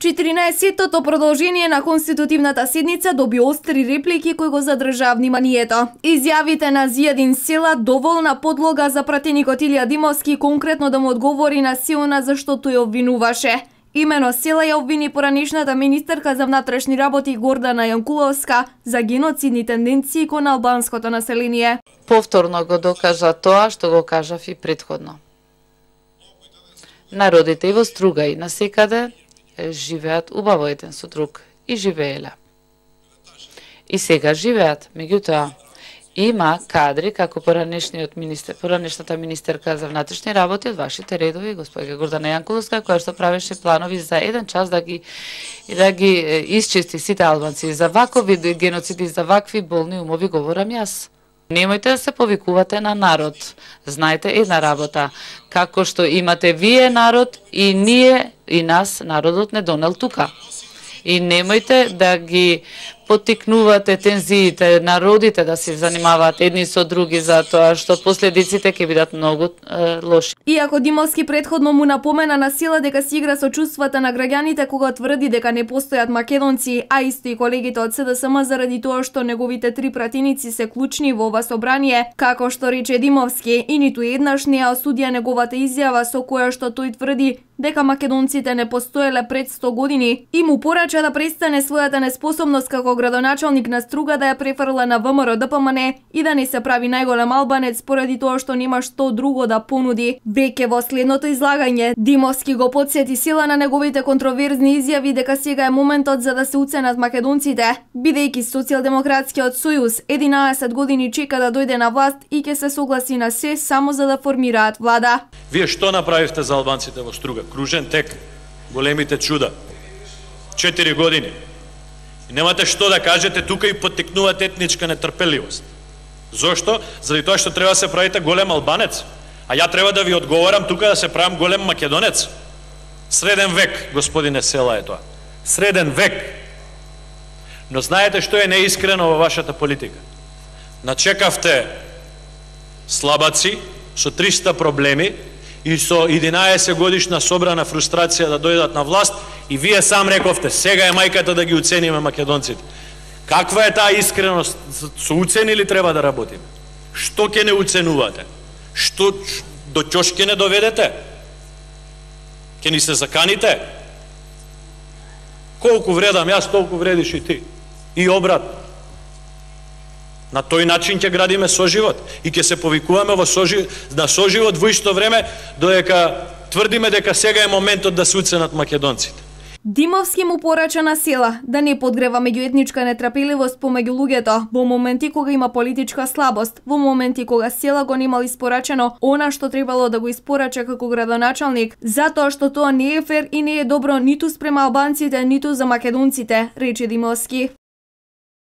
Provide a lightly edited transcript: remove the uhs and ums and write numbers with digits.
14-тото продолжение на конститутивната седница доби остри реплики кои го задржаа вниманието. Изјавите на Зијадин Села доволна подлога за пратеникот Илија Димовски конкретно да му одговори на силна зашто тој обвинуваше. Имено Села ја обвини поранешната министерка за внатрешни работи Гордана Јанкуловска за геноцидни тенденции кон албанското население. Повторно го докажа тоа што го кажав и претходно. Народите и во Струга и насекаде живеат убаво еден со друг и живееле. И сега живеат, меѓутоа има кадри како поранешната министерка за внатрешни работи од вашите редови, господја Гордана Јанкуловска, која што правеше планови за еден час да ги исчисти сите албанци. За вакви геноциди, за вакви болни умови говорам јас. Немојте да се повикувате на народ. Знаете една работа, како што имате вие народ и ние и нас народот не донел тука. И немојте да ги поттикнувате тензиите, народите да се занимаваат едни со други за тоа што последиците ќе бидат многу лоши. Иако Димовски претходно му напомена на Села дека си игра со чувствата на граѓаните кога тврди дека не постојат македонци, а исто и колегите од СДСМ заради тоа што неговите три пратеници се клучни во ова собрание, како што рече Димовски, и ниту еднаш не ја осудија неговата изјава со која што тој тврди дека македонците не постоеле пред 100 години и му порача да престане својата неспособност како градоначалник на Струга да ја префрла на ВМРО ДПМН и да не се прави најголем албанец поради тоа што нема што друго да понуди. Веќе во следното излагање, Димовски го потсети Села на неговите контроверзни изјави дека сега е моментот за да се уценат македонците, бидејќи Социјалдемократскиот сојуз 11 години чека да дојде на власт и ќе се согласи на се само за да формираат влада. Вие што направивте за албанците во Струга? Кружен тек, големите чуда. 4 години. И немате што да кажете тука и поттикнувате етничка нетрпеливост. Зошто? Заради тоа што треба да се правите голем албанец. А ја треба да ви одговорам тука да се правам голем македонец. Среден век, господине Села, е тоа. Среден век. Но знаете што е неискрено во вашата политика? Начекавте слабаци со 300 проблеми и со 11 годишна собрана фрустрација да дојдат на власт и вие сам рековте, сега е мајката да ги уцениме македонците. Каква е таа искреност? Со уцени ли треба да работиме? Што ќе не уценувате? Што до ќош ќе не доведете? Ќе ни се заканите? Колку вредам јас, толку вредиш и ти. И обратно. На тој начин ќе градиме соживот и ќе се повикуваме на соживот во исто време додека тврдиме дека сега е моментот да се уценат македонците. Димовски му порача на Села да не подгрева меѓуетничка нетрпеливост помеѓу луѓето во моменти кога има политичка слабост, во моменти кога Села го немал испорачено она што требало да го испорача како градоначалник, затоа што тоа не е фер и не е добро ниту спрема албанците, ниту за македонците, рече Димовски.